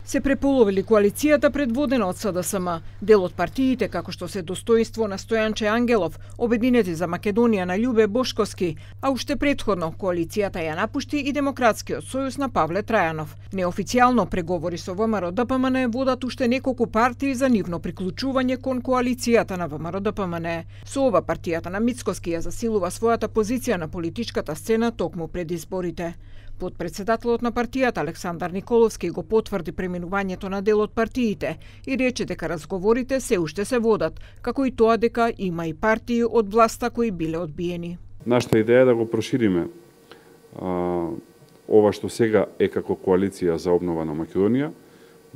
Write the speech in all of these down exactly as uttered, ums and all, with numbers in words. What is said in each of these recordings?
се преполовили коалицијата предводена од СДСМ. Дел од партиите, како што се Достоинство на Стојанче Ангелов, Обединети за Македонија на Љубе Бошковски, а уште претходно коалицијата ја напушти и Демократскиот сојуз на Павле Трајанов. Неофицијално преговори со ВМРО-ДПМН водат уште неколку партии за нивно приклучување кон коалицијата на ВМРО-ДПМН. Со ова партијата на Мицкоски ја засилува својата позиција на политичката сцена токму пред изборите. Подпредседателот на партијата Александар Николовски го потврди преминувањето на дел од партиите и рече дека разговорите се уште се водат, како и тоа дека има и партии од власта кои биле одбиени. Нашата идеја е да го прошириме а, ова што сега е како коалиција за обнова на Македонија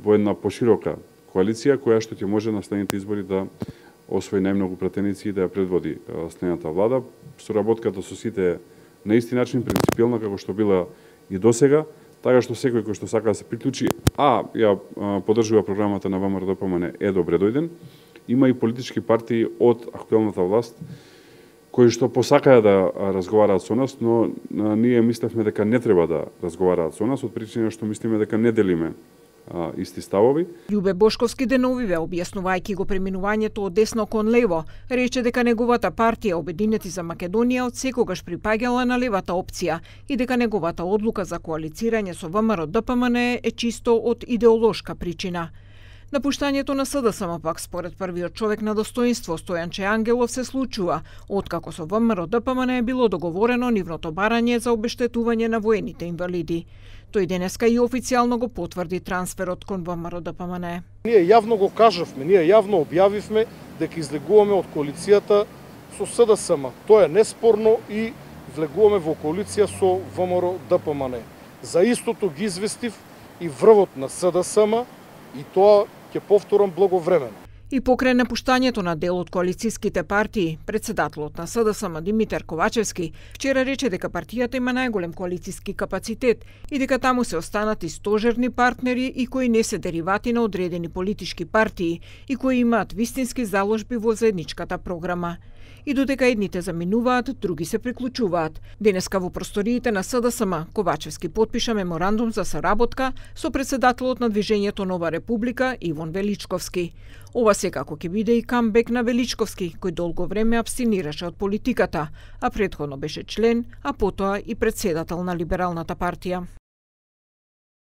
во една поширока коалиција која што ќе може на следните избори да освои најмногу пратеници и да ја предводи следната влада. Соработката со сите на исти начин принципиелна како што била и досега, така што секој кој што сака да се приклучи, а ја поддржува програмата на ВМРО-ДПМН е добре дојден. Има и политички партии од актуелната власт кои што посакаја да разговараат со нас, но ние мислевме дека не треба да разговараат со нас од причина што мислиме дека не делиме а, исти ставови. Љубе Бошковски деновиве, објаснувајќи го преминувањето од десно кон лево, рече дека неговата партија Обединети за Македонија од секогаш припаѓала на левата опција и дека неговата одлука за коалицирање со ВМРО-ДПМН е чисто од идеолошка причина. Напуштањето на СДСМ пак според првиот човек на Достоинство Стојанче Ангелов се случува откако со ВМРО-ДПМН е било договорено нивното барање за обештетување на воените инвалиди. Тој денеска и официјално го потврди трансферот кон ВМРО-ДПМН. Ние јавно го кажавме, ние јавно објавивме дека излегуваме од коалицијата со СДСМ. Тоа е неспорно и влегуваме во коалиција со ВМРО-ДПМН. За истото ги известив и врвот на СДСМ и тоа ќе повторам благовремено. И покрај напуштањето на дел од коалицијските партии, председателот на СДСМ Димитар Ковачевски вчера рече дека партијата има најголем коалицијски капацитет и дека таму се останати стожерни партнери и кои не се деривати на одредени политички партии и кои имаат вистински заложби во заедничката програма. И додека едните заминуваат, други се приклучуваат. Денеска во просториите на СДСМ Ковачевски потпиша меморандум за соработка со председателот на Движењето Нова Република Ивон Величковски. Ова секако ќе биде и камбек на Величковски, кој долго време абстинираше од политиката, а претходно беше член, а потоа и председател на Либералната партија.